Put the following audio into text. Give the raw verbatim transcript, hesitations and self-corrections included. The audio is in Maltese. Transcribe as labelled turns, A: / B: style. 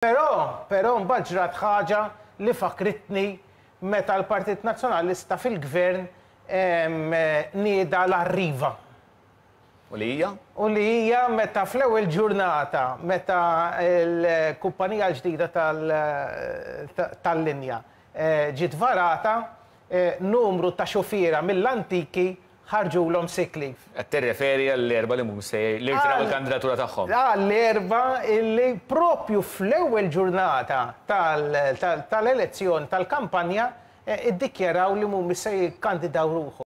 A: Però, però mbagħad ġrat ħaġa li fakritni meta l-Partit Nazzjonalista fil-gvern nieda l-Arriva.
B: U li hija?
A: U li hija meta fl-ewwel ġurnata, meta l-kumpanija l-ġdida tal-linja ġiet varata, numru ta' xufiera mill-antiki ħarġulhom sick leave.
B: Qed tirreferi għall-erba' li mhum se li rtiraw il-kandidatura tagħhom.
A: Għall-erba' illi propju fl-ewwel ġurnata tal-elezzjoni tal-kampanja iddikjaraw li mhumiex se jikkandidaw ruħhom.